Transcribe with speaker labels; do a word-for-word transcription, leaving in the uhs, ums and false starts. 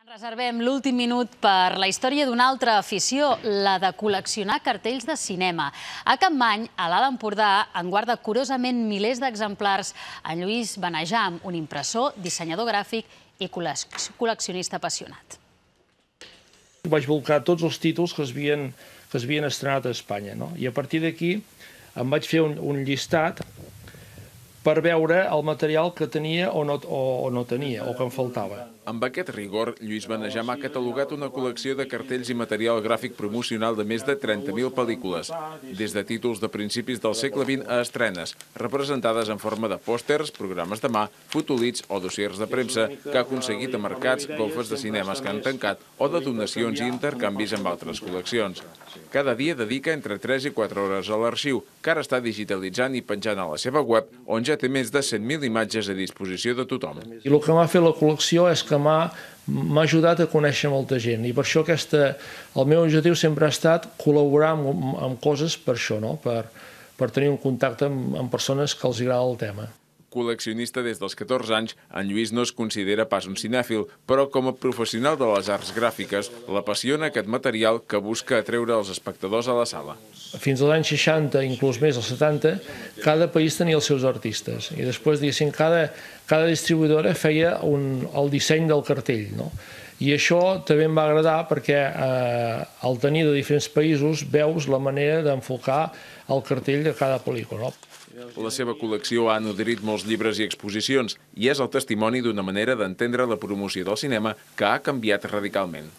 Speaker 1: Reservem l'últim minut per la història d'una altra afició, la de col·leccionar cartells de cinema. A Capmany, a l'Alt Empordà, en guarda curosament milers d'exemplars en Lluís Benejam, un impressor, dissenyador gràfic i col·leccionista apassionat.
Speaker 2: Vaig volcar tots els títols que es havien, que es havien estrenat a Espanya, no? I a partir d'aquí em vaig fer un, un llistat per veure el material que tenia o no, o, o no tenia, o que em faltava.
Speaker 3: Amb aquest rigor, Lluís Benejam ha catalogat una col·lecció de cartells i material gràfic promocional de més de trenta mil pel·lícules, des de títols de principis del segle vint a estrenes, representades en forma de pòsters, programes de mà, fotolits o dossiers de premsa que ha aconseguit a mercats, golfes de cinemes que han tancat o de donacions i intercanvis amb altres col·leccions. Cada dia dedica entre tres i quatre hores a l'arxiu, que ara està digitalitzant i penjant a la seva web, on ja té més de cent mil imatges a disposició de tothom.
Speaker 2: I el que m'ha fet la col·lecció és que m'ha ajudat a conèixer molta gent i per això aquesta, el meu objectiu sempre ha estat col·laborar amb, amb coses per això, no? per, per tenir un contacte amb, amb persones que els agrada el tema.
Speaker 3: Col·leccionista des dels catorze anys, en Lluís no es considera pas un cinèfil, però com a professional de les arts gràfiques, l'apassiona aquest material que busca atreure els espectadors a la sala.
Speaker 2: Fins als anys seixanta, inclús més als setanta, cada país tenia els seus artistes i després, diguéssim, cada, cada distribuïdora feia un, el disseny del cartell, no? I això també em va agradar perquè eh, al tenir de diferents països veus la manera d'enfocar el cartell de cada pel·lícula.
Speaker 3: La seva col·lecció ha nodrit molts llibres i exposicions i és el testimoni d'una manera d'entendre la promoció del cinema que ha canviat radicalment.